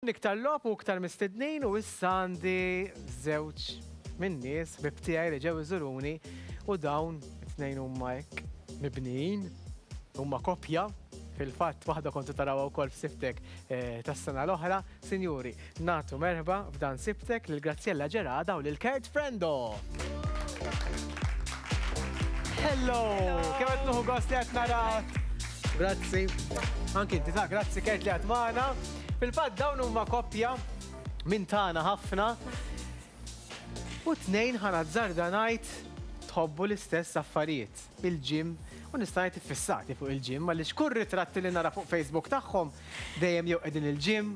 Iktar logħob u iktar mistednin u issa għandi żewġ min-nies ħbieb tiegħi li ġew iżuruni u dawn it-tnejn huma hekk mibnijin, huma koppja, fil-fatt waħda kontu tarawha wkoll f'Sibtek eh, tas-sena l-oħra. Sinjuri, nagħtu merħba f'dan Sibtek lil Graziella Gerada u lil Kurt Frendo. Hello! Kemm qed nieħu gost li qed narak. Grazzi. Anki inti ta' grazzi Kurt li qed magħna. Fil-fatt dawn huma koppja minn tagħna ħafna u t-tnejn ħa nazzarda ngħid tħobbu l-istess affarijiet, il-gym u nista' ngħid iffissati fuq il-gym għaliex kull ritratti li nara fuq Facebook tagħhom dejjem jew qegħdin il-gym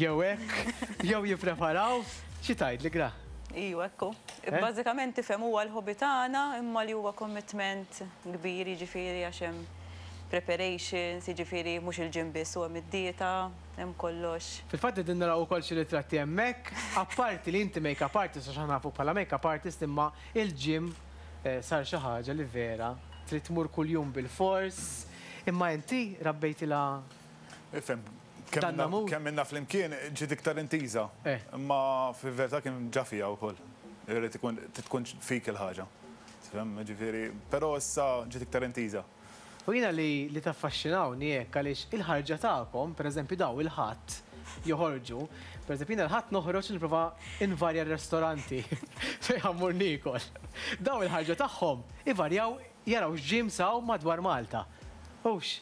jew hekk jew jippreparaw. Xi tgħidli Gra? Iwa, ekku. Bażikament tifhem huwa l-hobby tagħna imma li huwa commitment kbir jiġifieri għax hemm preparations, jiġifieri mhux il-gym biss u hemm id-dieta, hemm kollox. Fil-fatt qegħdin naraw ukoll xi ritratti hemmhekk, apparti li inti make-up artist għax aħna nafuk bħala make-up artist imma il-gym sar xi ħaġa li vera trid tmur kuljum bilfors. Imma inti rabbejtilha Ifhem, kemm ilna flimkien ġiet iktar intiża. Imma fil-verità kien ġa fiha wkoll. Irid ikun trid tkun fik il-ħaġa. Tifhem, jiġifieri, però issa ġiet iktar intiża. U jiena li li taffaxxinawni hekk għaliex il-ħarġa tagħkom, pereżempju daw il-Ħadd joħorġu, pereżempju jiena l-Ħadd noħroġ nipprova nvarja r-restoranti fejn ħa mmur niekol. Daw il-ħarġa tagħhom ivarjaw jaraw x'gyms hawn madwar Malta. Hux?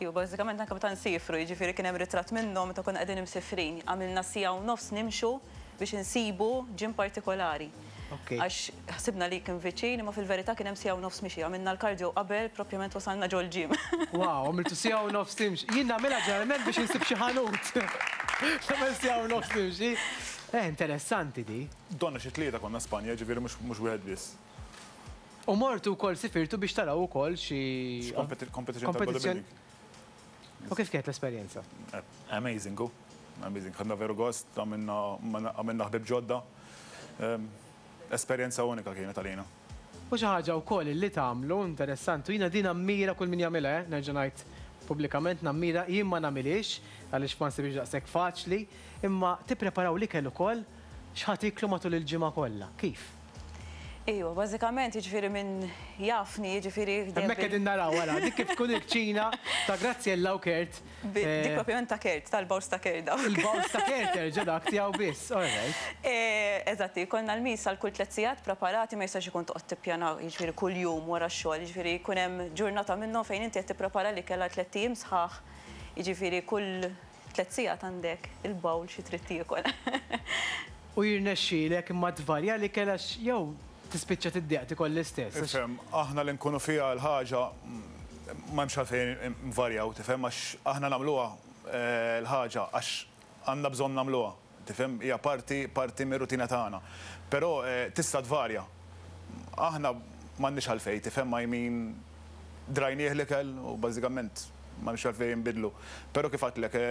Iva, bażikament anke meta nsiefru, jiġifieri kien hemm ritratt minnhom meta konna qegħdin imsifrin. Għamilna siegħa u nofs nimxu biex insibu gym partikolari. Għax ħsibna li kien viċin, imma fil-verità kien hemm siegħa u nofs mixi. Għamilna l-cardio qabel propjament wasalna ġol-gym. Wow, għamiltu siegħa u nofs timxi. Jien nagħmilha ġeneralment biex insib xi ħanut. Nagħmel siegħa u nofs nimxi. Eh, interessanti di. Donna xi tlieta konna Spanja, jiġifieri mhux wieħed biss. U mortu wkoll sifirtu biex taraw ukoll xi. Xi competition ta' bodybuilding. U kif kienet l-esperjenza? Amazing hu. Amazing. Ħadna veru gost, għamilna ħbieb ġodda. Esperjenza unika kienet għalina. U xi ħaġa wkoll li tagħmlu interessanti, u jiena din nammira kull min jagħmilha, eh, nerġa' ngħid pubblikament nammira, jien ma nagħmilhiex għaliex ma nsibhiex daqshekk faċli, imma tippreparaw l-ikel ukoll x'ħa tieklu matul il-ġimgħa kollha. Kif? Ejwa, bażikament jiġifieri min jafni, jiġifieri. Hemmhekk qegħdin naraw ara, dik kif tkun il-kċina ta' Graziella u Kurt. Dik propjament ta' Kurt, tal-bowls ta' Kurt dawk. Il-bowls ta' Kurt erġa' dak tiegħu biss, all right. Eżatt, jkollna l-meals għal kull tliet sigħat preparati, ma jistax ikun toqgħod tippjana jiġifieri kuljum wara x-xogħol, jiġifieri jkun hemm ġurnata minnhom fejn inti qed tipprepara l-ikel għal tlett ijiem sħaħ, jiġifieri kull Tlett sigħat għandek il-bowl xi trid tiekol. U jirnexxielek imma tvarja l-ikel għax jew tispiċċa tiddejjaq tiekol l-istess. Ifhem, aħna li nkunu fiha l-ħaġa m'hemmx għalfejn nvarjaw, tifhem, għax aħna nagħmluha l-ħaġa għax għandna bżonn nagħmluha, tifhem, hija parti parti mir-rutina tagħna. Però tista' tvarja. Aħna m'għandniex għalfejn, tifhem, I mean drajnieh l-ikel u bażikament m'hemmx għalfejn inbiddlu. Però kif għedtlek,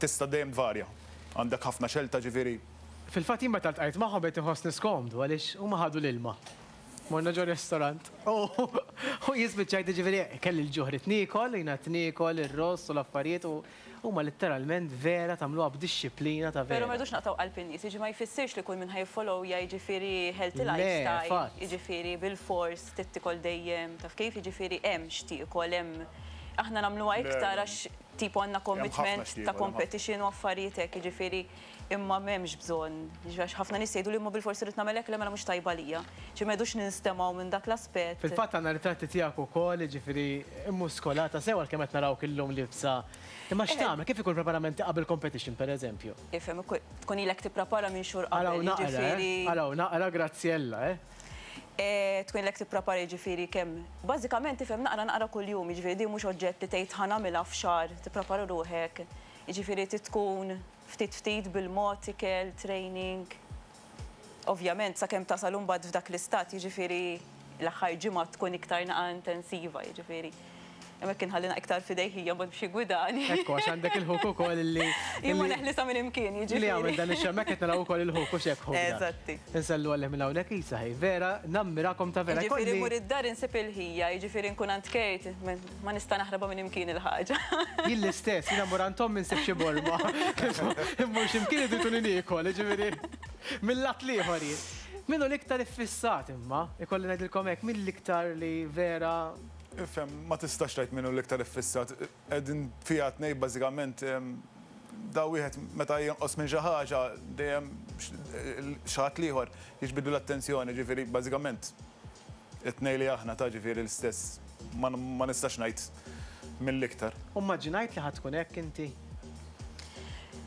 tista' dejjem tvarja. Għandek ħafna xelta ġifieri. Fil-fatt jien meta ltqajt magħhom bdejt inħossni skomdu għaliex huma ħadu l-ilma. Morna ġo restaurant u jien spiċċajt jiġifieri kelli l-ġuħ ridt niekol, jien qgħadt niekol ir-ross u l-affarijiet u Huma litteralment vera tagħmluha b'dixxiplina ta' vera. Però ma rridux naqtgħu qalb in-nies, jiġi ma jfissirx li kull min ħa jiffollowja jiġifieri healthy lifestyle, jiġifieri bilfors trid tiekol dejjem, taf kif, jiġifieri hemm x'tiekol, hemm aħna nagħmluha iktar għax tipo għandna commitment ta' competition u affarijiet hekk, jiġifieri imma m'hemmx bżonn, jiġifieri għax ħafna nies jgħiduli imma bilfors irrid nagħmel hekk, le mela mhux tajba għalija. Ġifieri ma rridux ninstemgħu minn dak l-aspett. Fil-fatt għandna ritratti tiegħek ukoll, jiġifieri immuskolata sew għalkemm qed narawk illum liebsa. Imma x'tagħmel? Kif ikun il-preparamenti qabel competition pereżempju? Ifhem, tkun ilek tipprepara minn xhur qabel, Araw naqra, eh? Araw naqra Graziella, eh? Tkun ilek tipprepara jiġifieri kemm, bażikament ifhem naqra naqra kuljum, jiġifieri din mhux oġġett li tgħid ħa nagħmilha f'xahar, tipprepara ruħek, jiġifieri trid tkun ftit ftit bil-mod, ikel, training. Ovvjament sakemm tasal imbagħad f'dak l-istat, jiġifieri l-aħħar ġimgħa tkun iktar naqa' intensiva, jiġifieri. Hemmhekk inħallina iktar f'idejh hija mbagħad biex jiggwidani. Ekku, għax għandek il-ħuk ukoll li. Jien ma neħlisha minn imkien, jiġifieri. Li jagħmel dan ix-xogħol, hemmhekk qed naraw ukoll il-ħuk u x'hekk ħuk. Eżatti. Insellu għalih minn hawnhekk isa ħej, vera nammirakom ta' vera. Jiġifieri mmur id-dar insib il-ħija, jiġifieri nkun għand Kurt, ma nista' naħrabha minn imkien il-ħaġa. Jien l-istess, jiena mmur għand ommi nsib xi borma. Immur xi mkien idrituni niekol, jiġifieri mill-lat l-ieħor jien. Min hu l-iktar iffissat imma, ikolli ngħidilkom hekk, min l-iktar li vera Ifhem, ma tistax tgħid min hu l-iktar iffissat. Qegħdin fiha t-tnejn bażikament da wieħed meta jonqos minn xi ħaġa dejjem xi ħadd l-ieħor jiġbidlu l-attenzjoni, ġifieri bażikament it-tnejn li aħna ta' ġifieri l-istess ma nistax ngħid min l-iktar. U mmaġinajt li ħa tkun hekk inti?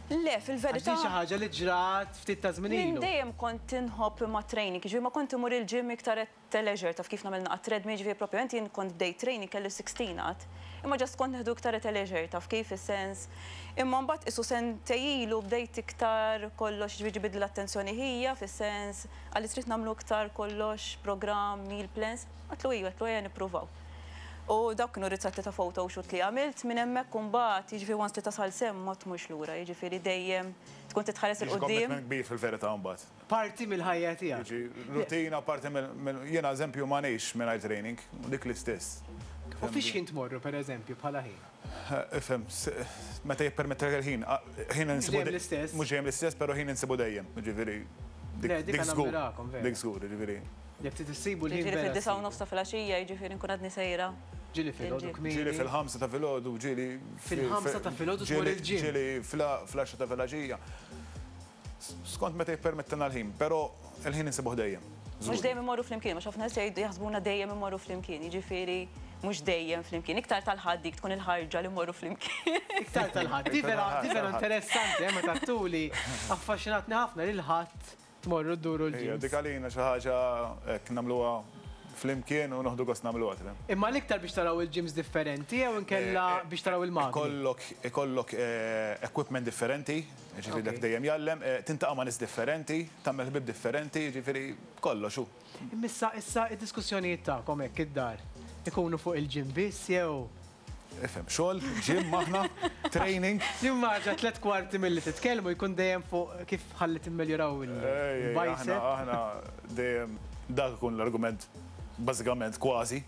Le, fil-verità. Għax din xi ħaġa li ġrat ftit ta' żmien ilu. Minn dejjem kont inħobb ma' training, jiġifieri ma kont immur il-gym iktar ta' leisure, taf kif nagħmel naqgħad treadmill, jiġifieri propjament jien kont bdejt training kelli 16 għad. Imma just kont nieħdu iktar ta' leisure, taf kif is-sens. Imma mbagħad qisu sentej ilu bdejt iktar kollox jiġifieri ġibidli l-attenzjoni ħija fis-sens qalli trid nagħmlu iktar kollox programm, meal plans. Għedtlu iva, għedtlu ejja nippruvaw. U dawk kienu ritratti ta' photoshoot li għamilt minn hemmhekk u mbagħad jiġifieri once li tasal s'hemm ma tmurx lura, jiġifieri dejjem tkun titħares 'il Jiġi quddiem. commitment kbir fil-verità mbagħad. Parti mill-ħajja tiegħek. Jiġi rutina, parti mill. Jiena eżempju ma ngħix mingħajr training, u dik l-istess. U fiex ħin tmorru pereżempju bħala ħin? Ifhem, meta jippermettilek il-ħin, ħin insibu. Mhux dejjem l-istess. Mhux dejjem l-istess, però ħin insibu dejjem, jiġifieri. Dik żgur. Dik żgur, jiġifieri. Jekk trid issibu l-ħin. Jiġifieri fid-disgħa u nofs ta' filgħaxija, jiġifieri nkun għadni sejra. Ġieli filgħodu kmieni. Ġieli fil-ħamsa ta' filgħodu, ġieli. Fil-ħamsa ta' filgħodu tmur il-gym. Ġieli fl-għaxra ta' filgħaxija. Skont meta jippermettilna l-ħin, però l-ħin insibuh dejjem. Mhux dejjem immorru flimkien, għax ħafna nies jgħidu jaħsbuna dejjem immorru flimkien, jiġifieri mhux dejjem flimkien. Iktar tal-Ħadd dik tkun il-ħarġa li mmorru flimkien. Iktar tal-Ħadd. Di vera, di vera interessanti, eh, meta tuli affaxxinatni ħafna li l-Ħadd tmorru dduru l-gyms. Ejja, dik għalina xi ħaġa hekk nagħmluha flimkien u noħdu gost nagħmluha, tifhem. Imma l-iktar biex taraw il-gyms differenti jew inkella biex taraw il-magni? Ikollok ikollok equipment differenti, jiġifieri dak dejjem jgħallem, tintaqa' ma' nies differenti, tagħmel ħbieb differenti, jiġifieri kollox hu. Imma issa issa d-diskussjonijiet tagħkom hekk id-dar ikunu fuq il-gym biss jew? Ifhem, xogħol, gym aħna, training. Nimmaġina tlett kwarti milli titkellmu jkun dejjem fuq kif ħalli timmeljoraw il-bicep. Aħna dejjem dak ikun l-argument bażikament kważi.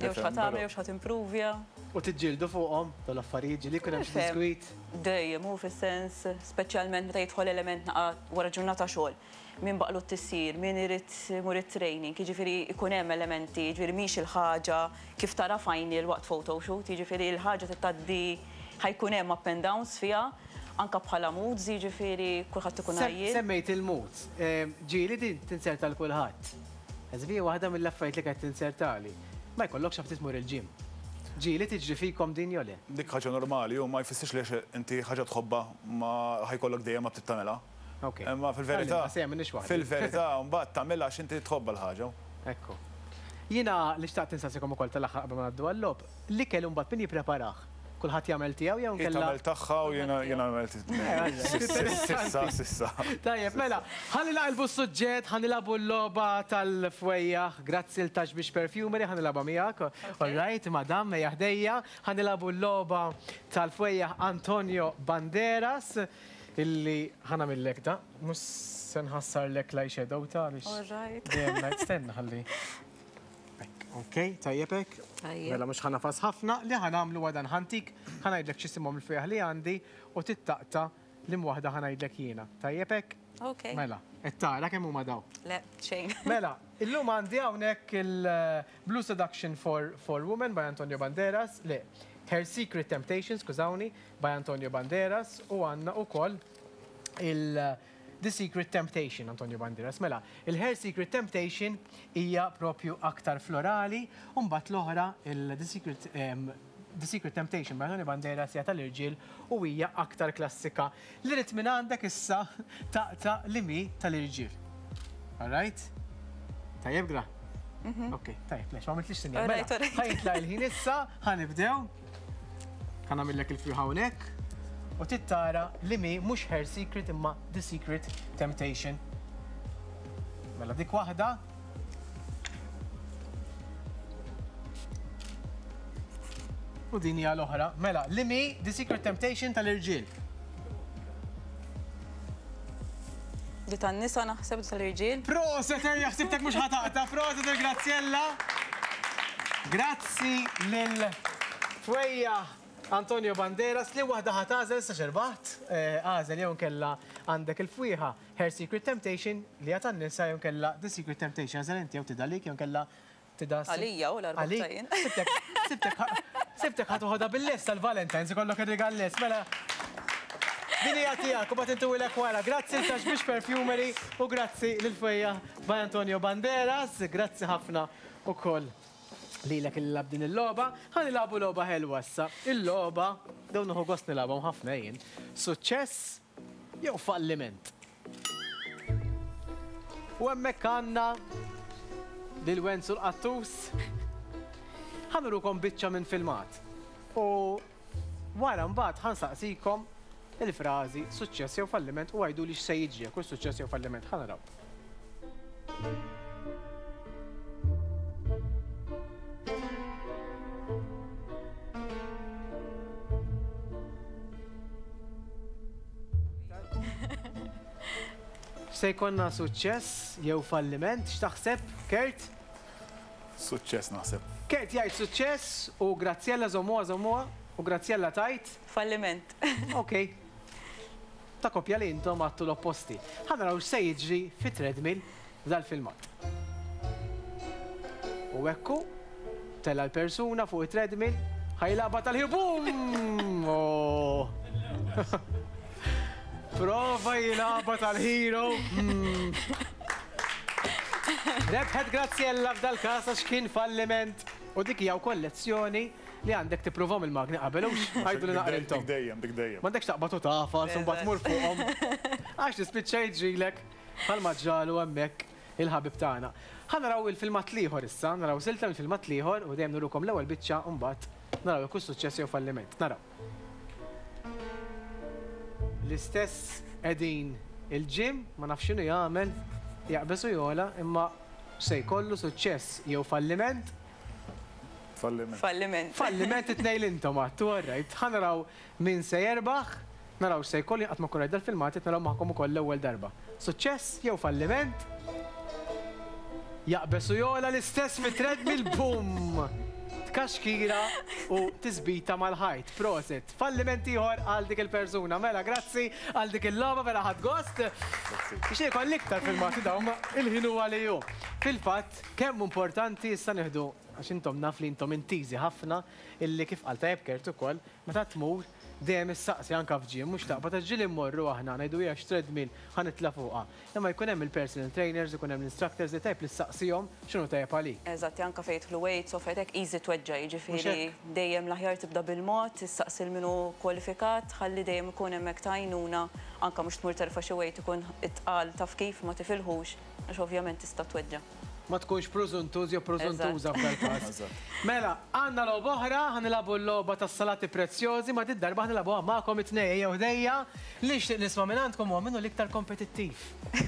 Jew x'ħa tagħmel, jew x'ħa timprovja. U tiġġieldu fuqhom dawn l-affarijiet, ġieli jkun hemm xi diskwit? Dejjem, hu fis-sens, speċjalment meta jidħol element naqa' wara ġurnata xogħol. Min baqgħlu t-tisjir, min irid imur it-training, jiġifieri jkun hemm elementi, jiġifieri mhix il-ħaġa kif tara final waqt photoshoot, jiġifieri l-ħaġa trid tgħaddi ħa jkun hemm up and downs fiha, anke bħala moods, jiġifieri kulħadd ikun għajjien. Semmejt il-moods. Ġieli din tinzerta 'l kulħadd. Eżempju hija waħda mill-affarijiet li kienet tinzertali. Ma jkollokx għaf tmur il-gym. Ġieli tiġri fikom din jew le? Dik ħaġa normali u ma jfissirx li għax inti ħaġa tħobbha ma ħa jkollok dejjem aptit tagħmilha. Imma fil-verità, fil-verità mbagħad tagħmilha għax inti tħobbha l-ħaġa. Ekku. Jiena li xtaqt insaqsikom ukoll tal-aħħar qabel ma ngħaddu għal-logħob, l-ikel imbagħad min jippreparah? Kulħadd jagħmel tiegħu jew inkella. Hi tagħmel tagħha u jiena nagħmel Sissa, sissa. Tajjeb, mela, ħalli naqilbu s-suġġett, ħa nilagħbu l-logħba tal-fwejjaħ. Grazzi 'l Tax Biex Perfumery, ħa nilgħabha miegħek. All right, madam, ejja ħdejja. Ħa nilagħbu l-logħba tal-fwejjaħ Antonio Banderas. Illi ħa nagħmillek da, mhux se nħassarlek l-eyeshadow ta' għaliex. All right. Dejjem ngħid stenna ħalli. Ok, tajjeb hekk? Tajjeb. Mela mhux ħa nafas ħafna, li ħa nagħmlu huwa dan ħantik, ħa ngħidlek x'isimhom il-fwieħ li għandi u tittaqta' liem waħda ħa ngħidlek jiena. Tajjeb hekk? Ok. Mela, qed tara kemm huma daw? Le, xejn. Mela, illum għandi hawnhekk il-Blue Seduction for, for Women by Antonio Banderas, le, Her Secret Temptation, skużawni, by Antonio Banderas u għandna ukoll il The Secret Temptation, Antonio Banderas. Mela, il-Her Secret Temptation hija propju aktar florali, u mbagħad l-oħra, il-The Secret, um, The Secret Temptation by Antonio Banderas hija tal-irġiel u hija aktar klassika. Li rrid minn għandek issa taqta' li mi tal-irġiel. All right? Tajjeb gra? Mhm. Ok, tajjeb, lex, ma għamiltlix sinjal. Mela, ħa jitlaq il-ħin issa, ħa nibdew. Ħa nagħmillek il-frieħ hawnhekk. U tittara li mi mhux Her Secret imma The Secret Temptation. Mela dik waħda. U din hija l-oħra. Mela, li mi The Secret Temptation tal-irġiel. Di tan-nisa naħseb tal-irġiel. Proset, erja ħsibtek mhux ħataqta, proset il-Graziella. Grazzi lil Fwejja Antonio Banderas li waħda ħa tagħżel issa x'irbaħt. Agħżel jew inkella għandek il-fwieħa Her Secret Temptation li hija tan-nisa jew inkella The Secret Temptation. Agħżel inti jew tidha għalik jew inkella tidha Għalija u l-arbaħ jien. Sibtek, sibtek, sibtek ħa toħodha bil-lest tal-Valentine's ikollok ir-rigal lest. Mela din hija tiegħek u bagħad intuwilek wara. Grazzi lil Tax Biex Perfumery u grazzi lil Fwejja by Antonio Banderas. Grazzi ħafna ukoll. Lilek li lgħabt din il-logħba. Ħa nilagħbu logħba ħelwa issa. Il-logħba, dawn nieħu gost nilgħabhom ħafna jien. Suċċess jew falliment. U hemmhekk għandna lil Wenzu l-Qattus. Ħa nurukom biċċa minn filmat. U wara mbagħad ħa nsaqsikom il-frażi suċċess jew falliment u għiduli x'se jiġri jekk hux suċċess jew falliment. Ħa naraw. Se jkollna suċċess jew falliment, x'taħseb, Kurt? Suċċess naħseb. Kurt jgħid suċċess u Graziella żommuha żommuha u Graziella tgħid? Falliment. Okej. Ta' koppja li intom għadtu l-opposti. Ħa naraw x'se jiġri fit-treadmill f'dal-filmat. U hekk hu, tela' l-persuna fuq it-treadmill, ħa jilgħabha tal-ħin boom! Oh! Prova jilgħabha tal-hero. Mm. Rebħet Graziella f'dal-każ għax kien falliment. U dik hija wkoll lezzjoni Li għandek tippruvhom il-magni qabel hux? Għiduli naqra intom. Dik dejjem, dik dejjem. M'għandekx taqbad u tagħfas u mbagħad tmur fuqhom. Għax tispiċċa jiġrilek bħalma ġralu hemmhekk il-ħabib tagħna. Ħa naraw il-filmat l-ieħor issa, naraw silta mill-filmat l-ieħor u dejjem nurukom l-ewwel biċċa u mbagħad naraw jekk hux suċċess jew falliment. Naraw. L-istess qegħdin il-gym, ma nafx x'inhu jagħmel, jaqbeż u jogħla, imma se jkollu suċċess jew falliment. Falliment. Falliment. Falliment it-tnejn li intom għadtu, all right. Ħa naraw min se jerbaħ, naraw x'se jkollu, jien qatt ma nkun rajt dal-filmat, qed naraw magħkom ukoll l-ewwel darba. Suċċess jew falliment? Jaqbeż u jogħla l-istess fit-treadmill, boom! Tkaxkira u tisbita mal-ħajt. Prosit. Falliment ieħor għal dik il-persuna. Mela, grazzi għal dik il-logħba, vera ħadt gost. Nixtieq ikolli iktar filmati dawn, ma il-ħin huwa li hu. Fil-fatt, Kemm hu importanti issa nieħdu, għax intom naf li intom intiżi ħafna, illi kif qal tajjeb Kurt ukoll, meta tmur dejjem issaqsi anke f'gym, mhux taqbad għax ġieli mmorru aħna ngħidu hija x'treadmill ħa nitla' fuqha. Imma jkun hemm il-personal trainers, ikun hemm l-instructors li tajjeb li ssaqsihom x'inhu tajjeb għalik. Eżatt, anke fejn jidħlu weights u affarijiet hekk easy tweġġa' jiġifieri dejjem l-aħjar tibda bil-mod, issaqsi 'l min hu kwalifikat ħalli dejjem ikun hemmhekk ta' għajnuna anke mhux tmur terfa' xi weight ikun itqal taf kif ma tifilħux. Għax ovvjament tista' tweġġa'. Ma tkunx prużuntuż jew prużuntuża f'dal-każ. Mela, għandna logħba oħra, ħa nilagħbu l-logħba tas-salati prezzjożi, ma did-darba ħa nilagħbuha magħkom it-tnejn ejjew ħdejja. Li nixtieq nisma' mingħandkom huwa min hu l-iktar kompetittiv?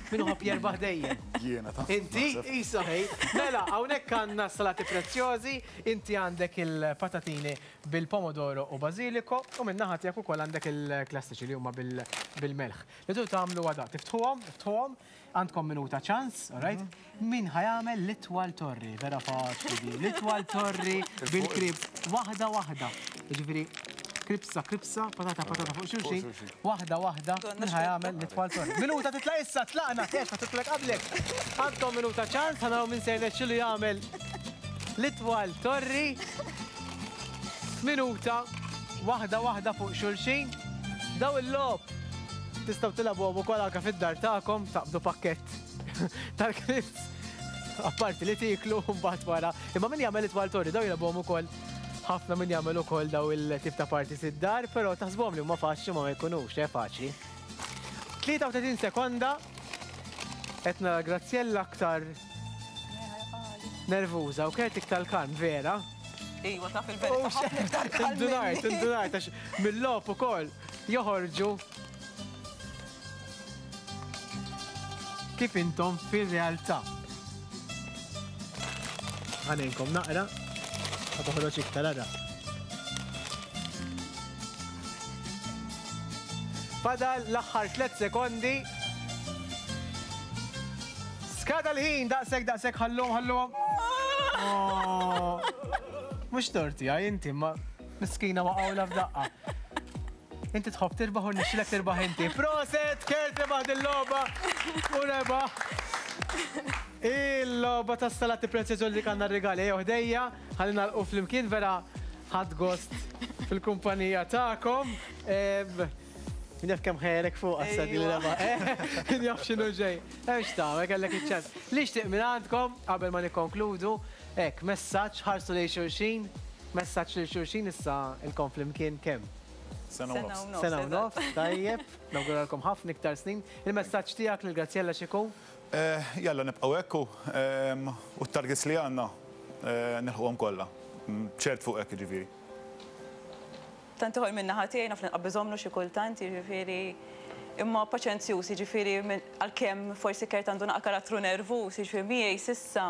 Min iħobb jerbaħ dejjem? Jiena ta'. Inti? Isa ħej. Mela, hawnhekk għandna s-salati prezzjożi, inti għandek il-patatini bil-pomodoro u bażiliko u min-naħa tiegħek ukoll għandek il-klassiċi li huma bil-melħ. Li tridu tagħmlu huwa dan, tiftħuhom, iftħuhom, Għandkom minuta ċans, all right? Min ħa jagħmel l-itwal torri, vera faċli di. L-itwal torri bil-krib, waħda waħda. Jiġifieri kribsa kribsa, patata patata fuq xulxin, waħda waħda, min ħa jagħmel l-itwal torri. Minuta titla' issa, tlaqna, kex ma titlaq qablek. Għandkom minuta ċans, ħa naraw min se jirnexxilu jagħmel l-itwal torri. Minuta, waħda waħda fuq xulxin. Daw il-logħob Tistgħu tilagħbuhom ukoll anke fid-dar tagħkom, taqbdu pakkett tal-crisps apparti li tieklu mbagħad wara. Imma min jagħmel it-twal torri daw jilagħbuhom ukoll ħafna min jagħmel ukoll daw il-tip ta' parties id-dar, però taħsbuhom li huma faċli ma ma jkunux, eh faċli. 33 sekonda qed nara Graziella aktar nervuża u Kurt iktar kalm, vera? Iwa, taf il-verità ħafna iktar kalm. Indunajt, indunajt, għax mill-logħob ukoll joħorġu kif intom fir-realtà. Ħa ngħinkom naqra, ħa toħroġ iktar ara. Fadal l-aħħar 3 sekondi. Skada l-ħin, daqshekk daqshekk ħalluhom ħalluhom. Oh. Mhux torti għaj inti, ma miskina waqgħula f'daqqa. Inti tħobb tirbaħ u nixxilek tirbaħ inti. Proset, Kurt rebaħ din-logħba u rebaħ. Il-logħba tas-salati prezzjożi li għandna r-rigali ejjew ħdejja, ħalli nagħlqu flimkien vera ħadt gost fil-kumpanija tagħkom. Min jaf kemm ħejrek fuq għas li rebaħ. Min jaf x'inhu ġej. Hemm x'tagħmel kellek iċ-ċans. Li xtieq minn għandkom qabel ma nikkonkludu, hekk messaġġ ħarsu lejn xulxin, messaġġ lil xulxin issa ilkom flimkien kemm? Sena u nofs. Sena u nofs, tajjeb. Nawguralkom ħafna iktar snin. Il-messaġġ tiegħek lil Graziella x'ikun? Jalla nibqgħu hekk u t-targets li għandna nilħquhom kollha. Ċert fuq hekk jiġifieri. Tant ieħor min-naħa tiegħi naf li nqabbiżhomlu xi kultant, jiġifieri imma paċenzjuż, jiġifieri għalkemm forsi Kurt għandu naqa' karattru nervuż, jiġifieri miegħi s'issa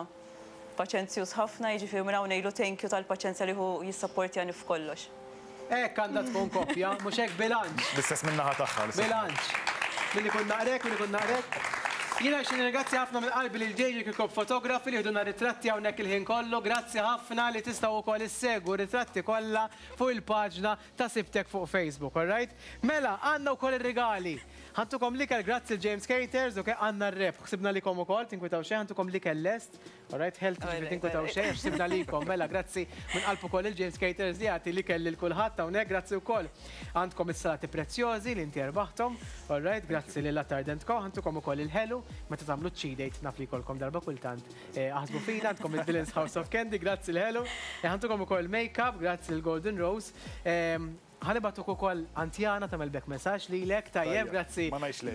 paċenzjuż ħafna, jiġifieri minn hawn ngħidlu thank you tal-paċenzja li hu jissapportjani f'kollox. Hekk għandha tkun koppja, mhux hekk bilanċ. L-istess min-naħa tagħha. Bilanċ. Min ikun naqrek, min ikun naqrek. Jiena nixtieq nirringrazzja ħafna minn qalbi lil JJ Kirkop Photography li ħdulna ritratti hawnhekk il-ħin kollu. Grazzi ħafna li tistgħu wkoll issegwu r-ritratti kollha fuq il-paġna ta' Sibtek fuq Facebook, alright? Mela, għandna wkoll ir-rigali. Ħa ntukom l-ikel grazzi lil James Caters, ok? Għandna r-rebħ, ħsibna likom ukoll, tinkwitaw xejn, ħa ntukom l-ikel lest. Alright, health ġifieri tinkwetaw xejn għax sibna likom. Mela, grazzi minn qalb ukoll lil James Caters li jagħti l-ikel lil kulħadd hawnhekk. Grazzi wkoll għandkom is-salati prezzjożi li inti erbaħthom. Alright, grazzi lil Attard Co. Ħa ntukom ukoll il-ħelu meta tagħmlu ċ-cheat naf li jkollkom darba kultant. Aħsbu fina għandkom il-Dylan's House of Candy, grazzi l-ħelu. Ħa ntukom ukoll make-up, grazzi lil Golden Rose. Ħa nibagħtuk ukoll Antjana tagħmel back messaġġ lilek, tajjeb, grazzi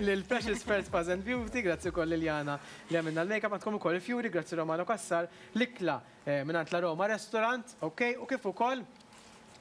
lil Precious Pearls Spas and Beauty, grazzi wkoll lil Jana li għamilna l-makeup, għandkom ukoll il-fjuri, grazzi Romano Cassar, l-ikla mingħand La Roma Restaurant, ok, u kif ukoll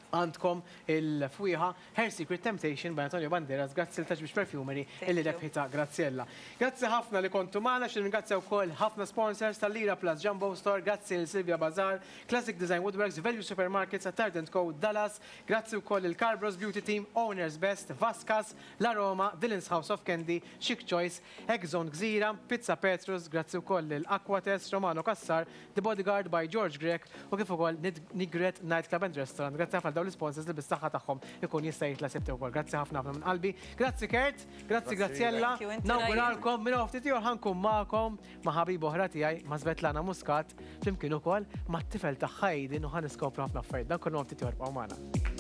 għandkom il-fwieħa Her Secret Temptation by Antonio Banderas, grazzi lil Touch Beach Perfumery illi rebħitha Graziella. Grazzi ħafna li kontu magħna, xi nirringrazzja wkoll ħafna sponsors tal-Lira Plus Jumbo Store, grazzi lil Silvia Bazar, Classic Design Woodworks, Value Supermarkets, Attard Co, Dallas, Grazzi wkoll lil Carbros Beauty Team, Owners Best, Vascas, La Roma, Dylan's House of Candy, Chic Choice, Egg Zone Gżira, Pizza Petrus, grazzi wkoll lil Aquatest, Romano Cassar, The Bodyguard by George Grech u kif ukoll Nigret Night Club and Restaurant. Grazzi ħafna għal dawn l-isponsors li bis-saħħa tagħhom ikun jista' jitla' Sibt ukoll. Grazzi ħafna ħafna minn qalbi. Grazzi Kurt, grazzi Graziella. Nawguralkom minn hawn ftit ieħor ħa nkun magħkom ma' ħabiba oħra tiegħi, ma' Svetlana Muscat, flimkien ukoll mat-tifel tagħha Aiden u ħa niskopru ħafna affarijiet. Dan kollu ma' ftit ieħor, ibqgħu magħna.